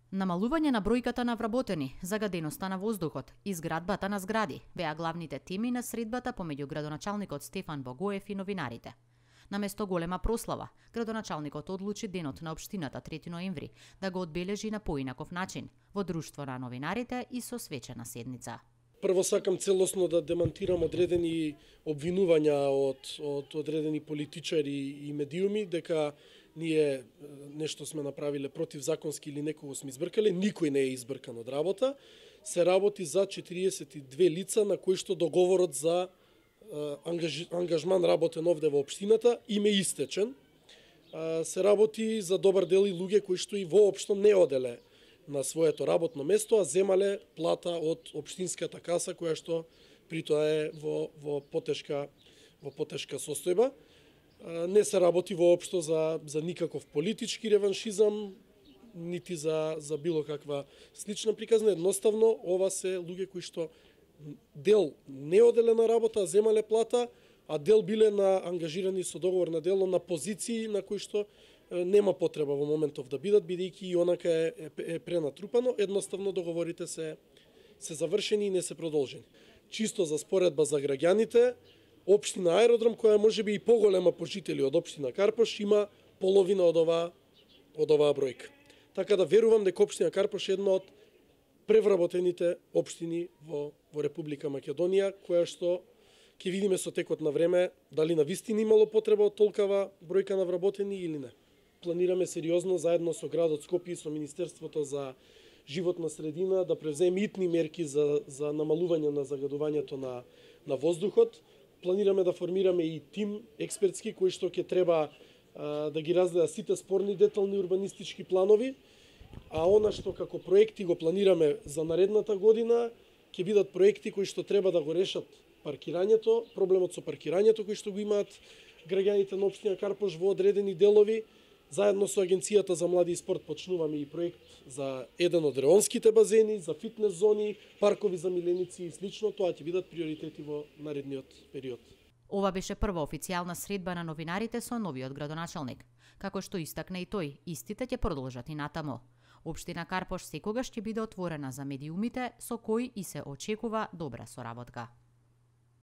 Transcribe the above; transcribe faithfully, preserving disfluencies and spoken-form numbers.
Намалување на бројката на вработени, загаденоста на воздухот и зградбата на згради беа главните теми на средбата помеѓу градоначалникот Стефан Богоев и новинарите. Наместо голема прослава, градоначалникот одлучи денот на општината трети ноември да го одбележи на поинаков начин, во друштво на новинарите и со свечена седница. Прво сакам целосно да демантирам одредени обвинувања од, од одредени политичари и медиуми дека ние нешто сме направиле противзаконски или некого сме избркале. Никој не е избркан од работа. Се работи за четириесет и две лица на кои што договорот за ангаж, ангажман работен овде во општината им е истечен. Се работи за добар дел и луѓе кои што и воопшто не оделе на своето работно место, а земале плата од општинската каса, која што при тоа е во, во, потешка, во потешка состојба. Не се работи воопшто за, за никаков политички реваншизам, нити за, за било каква слична приказна. Едноставно, ова се луѓе кои што дел не оделе на работа, а земале плата, а дел биле на ангажирани со договор на дело на позиции на кои што нема потреба во моментов да бидат, бидејќи и онака е, е, е пренатрупано, едноставно договорите се, се завршени и не се продолжени. Чисто за споредба за граѓаните, општина Аеродром, која може би и поголема по жители од општина Карпош, има половина од оваа, од оваа бројка. Така да верувам дека општина Карпош е една од превработените општини во, во Република Македонија, која што ќе видиме со текот на време дали на вистина имало потреба од толкава бројка на вработени или не. Планираме сериозно заедно со градот Скопје и со Министерството за животна средина да превземе итни мерки за, за намалување на загадувањето на, на воздухот. Планираме да формираме и тим експертски кои што ќе треба а, да ги разгледа сите спорни детални урбанистички планови, а она што како проекти го планираме за наредната година ќе бидат проекти кои што треба да го решат паркирањето, проблемот со паркирањето кои што го имаат граѓаните на општина Карпош во одредени делови. Заедно со Агенцијата за млади и спорт почнуваме и проект за еден од реонските базени, за фитнес зони, паркови за миленици и слично. Тоа ќе бидат приоритети во наредниот период. Ова беше прва официјална средба на новинарите со новиот градоначалник. Како што истакна и тој, истите ќе продолжат и натаму. Општина Карпош секогаш ќе биде отворена за медиумите со кои и се очекува добра соработка.